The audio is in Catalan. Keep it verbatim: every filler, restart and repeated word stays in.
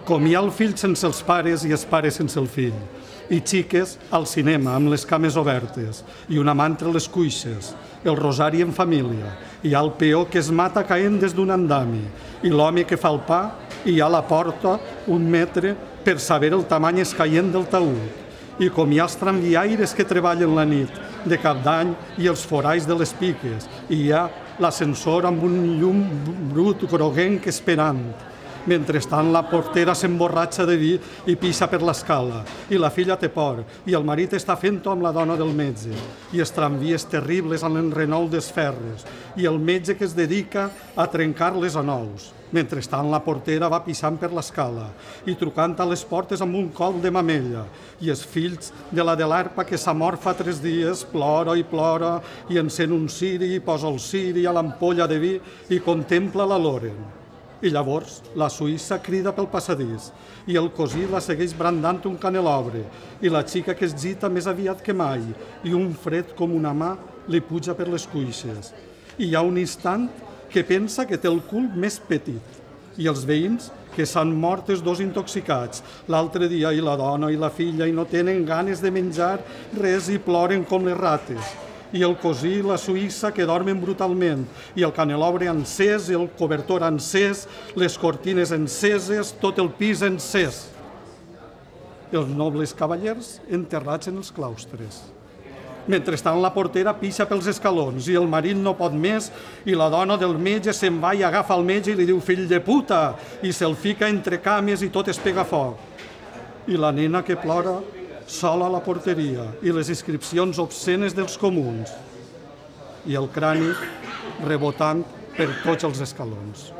Com hi ha el fill sense els pares i els pares sense el fill. I xiques al cinema amb les cames obertes i una mà entre les cuixes, el rosari en família, hi ha el peó que es mata caent des d'un andami i l'home que fa el pa i hi ha a la porta un metre per saber el tamany escaient del taüt. I com hi ha els tramviaires que treballen la nit de cap d'any i els foralls de les piques i hi ha l'ascensor amb un llum brut groguenc esperant. Mentrestant, la portera s'emborratxa de vi i pixa per l'escala, i la filla té por, i el marit està fent-ho amb la dona del metge, i els tramvies terribles a l'enrenou dels ferres, i el metge que es dedica a trencar-les a nous. Mentrestant, la portera va pixant per l'escala i trucant a les portes amb un col de mamella, i els fills de la de l'arpa que s'ha mort fa tres dies plora i plora i encén un ciri i posa el ciri a l'ampolla de vi i contempla la Loren. I llavors la suïssa crida pel passadís i el cosí la segueix brandant un canelobre i la xica que es gita més aviat que mai i un fred com una mà li puja per les cuixes. I hi ha un instant que pensa que té el cul més petit i els veïns que s'han mort els dos intoxicats l'altre dia i la dona i la filla i no tenen ganes de menjar res i ploren com les rates. I el cosí i la suïssa que dormen brutalment, i el canelobre encès, i el cobertor encès, les cortines enceses, tot el pis encès. Els nobles cavallers enterrats en els claustres. Mentrestant la portera pixa pels escalons i el marit no pot més i la dona del metge se'n va i agafa el metge i li diu fill de puta i se'l fica entre cames i tot es pega foc. I la nena que plora sola a la porteria i les inscripcions obscenes dels comuns i el crani rebotant per tots els escalons.